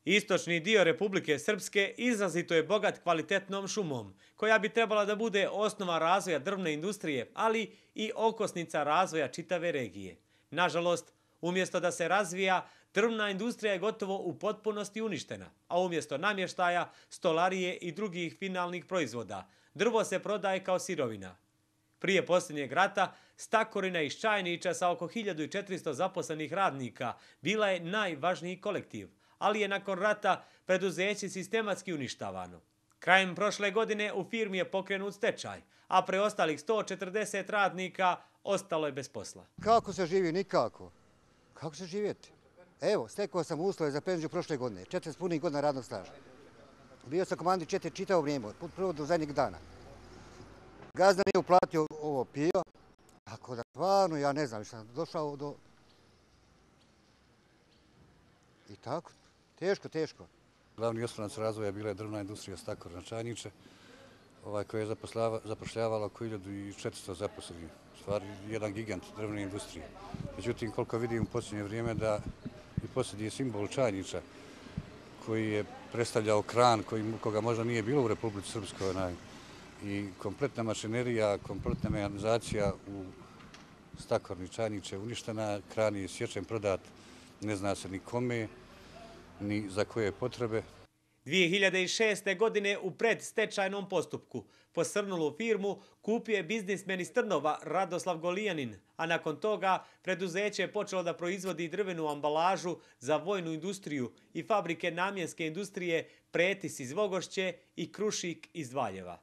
Istočni dio Republike Srpske izrazito je bogat kvalitetnom šumom, koja bi trebala da bude osnova razvoja drvne industrije, ali i okosnica razvoja čitave regije. Nažalost, umjesto da se razvija, drvna industrija je gotovo u potpunosti uništena, a umjesto namještaja, stolarije i drugih finalnih proizvoda, drvo se prodaje kao sirovina. Prije posljednjeg rata, Stakorina iz Čajnića sa oko 1400 zaposlenih radnika bila je najvažniji kolektiv, ali je nakon rata preduzeće sistematski uništavano. Krajem prošle godine u firmi je pokrenut stečaj, a preostalih 140 radnika ostalo je bez posla. Kako se živi? Nikako. Kako se živjeti? Evo, stekao sam uslove za penziju prošle godine, 40 punih godina radnog staža. Bio sam komandir 4 čitavo vrijeme, od prvog do zadnjeg dana. Gazda nije uplatio ovo pio, tako da stvarno ja ne znam, sam došao do... I tako, teško. Glavni oslonac razvoja bila je drvna industrija Stakorina Čajniče, koja je zapošljavala oko 1400 zaposlenih. U stvari, jedan gigant drvne industrije. Međutim, koliko vidim u posljednje vrijeme da i posljednji simbol Čajniča, koji je predstavljao kran, koga možda nije bilo u Republici Srpskoj, i kompletna mašinerija, kompletna mehanizacija u Stakorni Čajniče je uništena, kran je sječen, prodat, ne zna se ni kome, ni za koje potrebe. 2006. godine u predstečajnom postupku posrnulu firmu kupio je biznismen iz Trnova Radoslav Golijanin, a nakon toga preduzeće je počelo da proizvodi drvenu ambalažu za vojnu industriju i fabrike namjenske industrije Pretis iz Vogošće i Krušik iz Valjeva.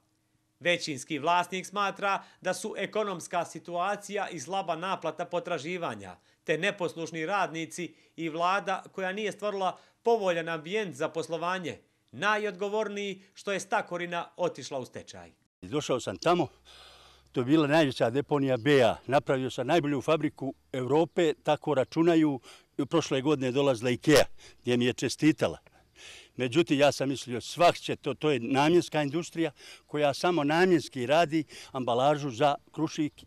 Većinski vlasnik smatra da su ekonomska situacija i slaba naplata potraživanja, te neposlušni radnici i vlada koja nije stvorila povoljan ambijent za poslovanje, najodgovorniji što je Stakorina otišla u stečaj. Došao sam tamo, to je bila najveća deponija BA. Napravio sam najbolju fabriku Europe, tako računaju. Prošle godine dolazila IKEA, gdje mi je čestitala. Međutim, ja sam mislio, svak će to je namjenska industrija koja samo namjenski radi ambalažu za Krušik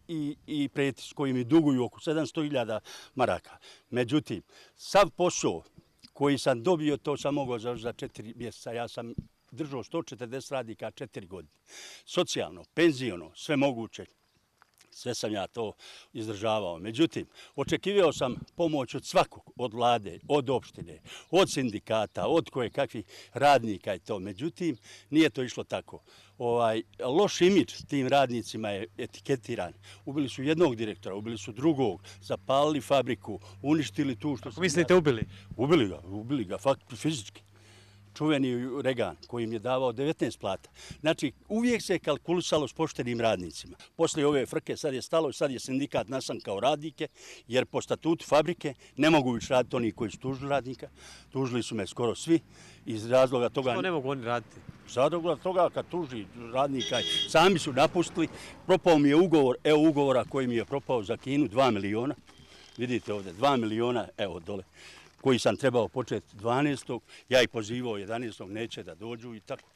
i Pretis, koji mi duguju oko 700.000 maraka. Međutim, sav posao koji sam dobio, to sam mogao za 4 mjeseca. Ja sam držao 140 radnika 4 godine. Socijalno, penziono, sve moguće. Sve sam ja to izdržavao. Međutim, očekivao sam pomoć od svakog, od vlade, od opštine, od sindikata, od kakvih radnika i to. Međutim, nije to išlo tako. Loš imidž tim radnicima je etiketiran. Ubili su jednog direktora, ubili su drugog, zapalili fabriku, uništili tu što... Kako mislite ubili? Ubili ga, fizički. Čuveni Regan koji im je davao 19 plata. Znači, uvijek se kalkulisalo s poštenim radnicima. Poslije ove frke sad je stalo i sad je sindikat nasankao radnike, jer po statutu fabrike ne mogu više raditi oni koji su tužili radnika. Tužili su me skoro svi iz razloga toga... Što ne mogu oni raditi? Iz razloga toga kad tuži radnika, sami su napustili. Propao mi je ugovor, evo ugovora koji mi je propao za Kinu, 2 miliona. Vidite ovdje, 2 miliona, evo dole, koji sam trebao početi 12. Ja ih pozivao 11. neće da dođu i tako.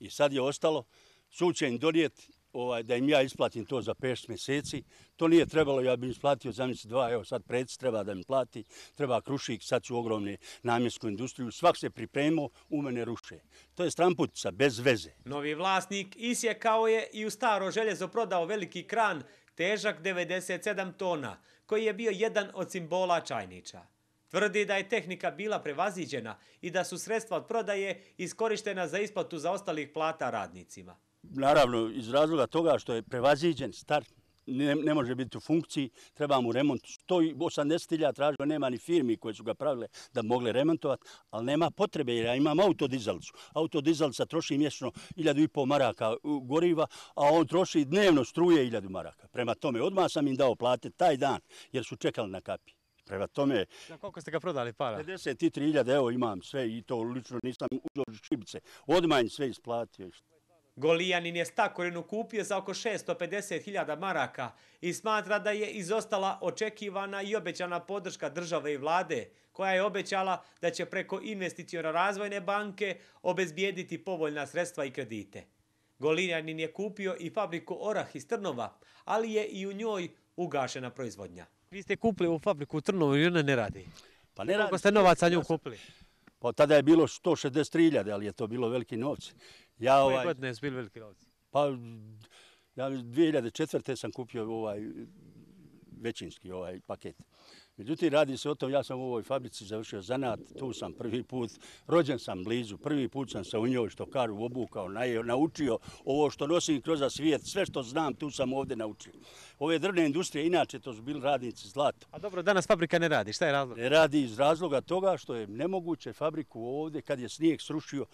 I sad je ostalo, sud će im donijeti da im ja isplatim to za 5 mjeseci. To nije trebalo, ja bih isplatio za mjesec 2, evo sad Pretis treba da mi plati, treba Krušik, sad su ogromne namjensku industriju, svak se pripremao, u mene ruše. To je stranputica, bez veze. Novi vlasnik isjekao je i u staro željezo prodao veliki kran, težak 97 tona, koji je bio jedan od simbola Čajniča. Tvrdi da je tehnika bila prevaziđena i da su sredstva od prodaje iskorištena za isplatu zaostalih plata radnicima. Naravno, iz razloga toga što je prevaziđen, star, ne može biti u funkciji, treba mu remont. 180.000 tražio, nema ni firmi koje su ga pravile da bi mogle remontovati, ali nema potrebe jer ja imam autodizalicu. Autodizalica troši mjesečno 1.500 maraka goriva, a on troši dnevno struje 1.000 maraka. Prema tome, odmah sam im dao plate taj dan jer su čekali na kapi. Prema tome... Za koliko ste ga prodali para? 53.000, evo imam sve i to lično nisam uzeo šibice. Odmah im sve isplatio. Golijanin je Stakorinu kupio za oko 650.000 maraka i smatra da je izostala očekivana i obećana podrška države i vlade, koja je obećala da će preko investicione razvojne banke obezbijediti povoljna sredstva i kredite. Golijanin je kupio i fabriku Orah iz Trnova, ali je i u njoj ugašena proizvodnja. Vi ste kupili ovu fabriku u Trnovu i ona ne radi. Pa ne radi. Koliko ste novaca nju kupili? Pa tada je bilo 163.000, ali je to bilo veliki novci. Koje godine su bili veliki novci? Pa, ja 2004. sam kupio većinski paket. Međutim, radi se o tom, ja sam u ovoj fabrici završio zanat, tu sam prvi put, rođen sam blizu, prvi put sam se u njoj, što kažu, obukao, naučio ovo što nosim kroz svijet, sve što znam, tu sam ovdje naučio. Ove drvne industrije, inače, to su bili radnici zlato. A dobro, danas fabrika ne radi, šta je razlog? Ne radi iz razloga toga što je nemoguće fabriku ovdje, kad je snijeg srušio,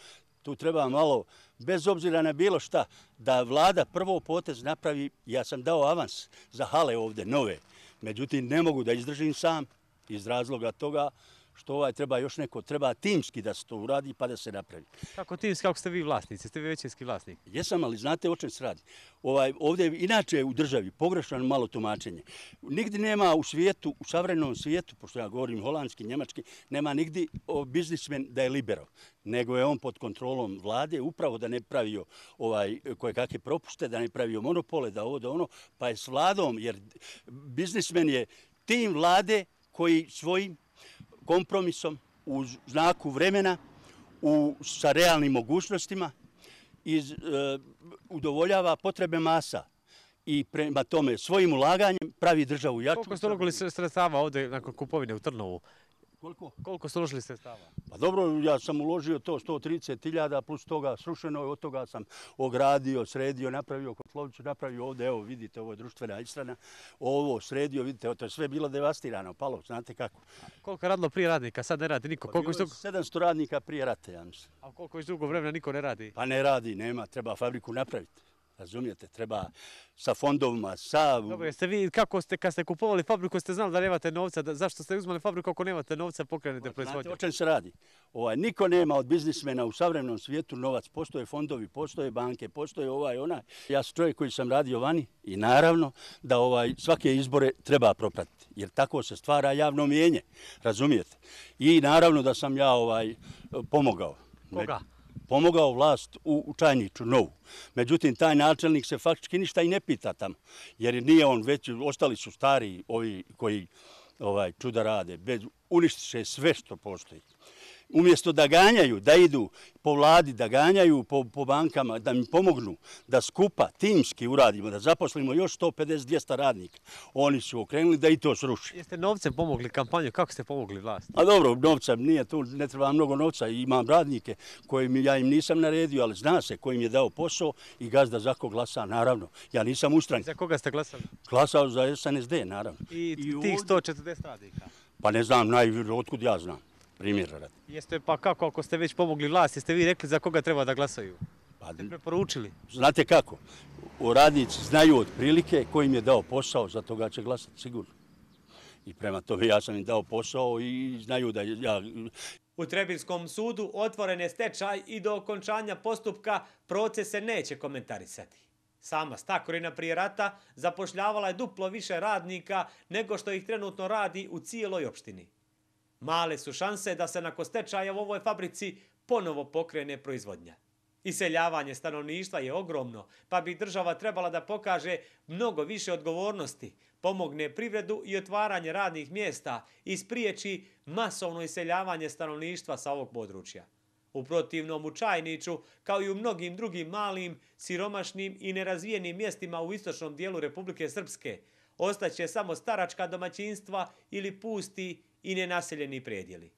tu treba malo, bez obzira na bilo šta, da vlada prvo potez napravi, ja sam dao avans za hale ovdje, nove. Međutim, ne mogu da izdržim sam iz razloga toga što treba još neko, treba timski da se to uradi pa da se napravi. Kako timski, kako ste vi vlasnici? Ste vi većinski vlasnik? Jesam, ali znate o čem se radi. Ovdje je inače u državi pogrešno malo tumačenje. Nigdje nema u svijetu, u savremenom svijetu, pošto ja govorim holandski, njemački, nema nigdje biznismen da je liberal, nego je on pod kontrolom vlade, upravo da ne pravio koje kakve propuste, da ne pravio monopole, da ovo, da ono, pa je s vladom, jer biznismen je tim vlade koji svojim kompromisom u znaku vremena, sa realnim mogućnostima, udovoljava potrebe masa i prema tome svojim ulaganjem pravi državu jaču. Koliko ste uložili sredstava ovdje nakon kupovine u Trnovu? Koliko ste uložili sredstava? Pa dobro, ja sam uložio to 130.000 plus toga srušeno, od toga sam ogradio, sredio, napravio kotlovnicu, napravio ovdje, evo vidite, ovo je društvena ishrana, ovo sredio, vidite, to je sve bilo devastirano, palo, znate kako. Koliko je radilo prije radnika, sad ne radi niko? Pa bilo je 700 radnika prije rata, ja mislim. A koliko još dugo vremena niko ne radi? Pa ne radi, nema, treba fabriku napraviti. Razumijete, treba sa fondovima, sa... Dobro, jeste vi, kako ste, kad ste kupovali fabriku, ste znali da nemate novca, zašto ste uzmali fabriku ako nemate novca, pokrenete proizvodnju? Znate o čem se radi? Niko nema od biznismena u savremenom svijetu novac, postoje fondovi, postoje banke, postoje onaj. Ja sam čovjek koji sam radio vani i naravno da svake izbore treba propratiti, jer tako se stvara javno mnijenje, razumijete? I naravno da sam ja pomogao. Koga? Pomogao vlast u Čajniću, novu. Međutim, taj načelnik se faktički ništa i ne pita tamo, jer nije on već, ostali su stari ovi koji čuda rade, uništiše sve što postoji. Umjesto da ganjaju, da idu po vladi, da ganjaju po bankama, da mi pomognu, da skupa, timski uradimo, da zaposlimo još 150-200 radnika. Oni su okrenuli da i to sruši. Jeste novcem pomogli kampanju, kako ste pomogli vlast? A dobro, novca nije tu, ne treba mnogo novca. Imam radnike ja im nisam naredio, ali zna se ko im je dao posao i gazda za ko glasa, naravno. Ja nisam ustran. Za koga ste glasali? Glasao za SNSD, naravno. I tih 140 radnika? Pa ne znam, otkud ja znam. Primjera radi. Jeste pa kako, ako ste već pomogli vlast, jeste vi rekli za koga treba da glasaju? Ste preporučili? Znate kako, radnici znaju otprilike ko im je dao posao, za toga će glasati sigurno. I prema tome ja sam im dao posao i znaju da ja... U Trebinskom sudu otvoren je stečaj i do okončanja postupka proces se neće komentarisati. Sama Stakorina prije rata zapošljavala je duplo više radnika nego što ih trenutno radi u cijeloj opštini. Male su šanse da se nakon stečaja u ovoj fabrici ponovo pokrene proizvodnja. Iseljavanje stanovništva je ogromno, pa bi država trebala da pokaže mnogo više odgovornosti, pomogne privredu i otvaranje radnih mjesta i spriječi masovno iseljavanje stanovništva sa ovog područja. U protivnom, u Čajniću, kao i u mnogim drugim malim, siromašnim i nerazvijenim mjestima u istočnom dijelu Republike Srpske, ostaće samo staračka domaćinstva ili pusti i nenaseljeni predjeli.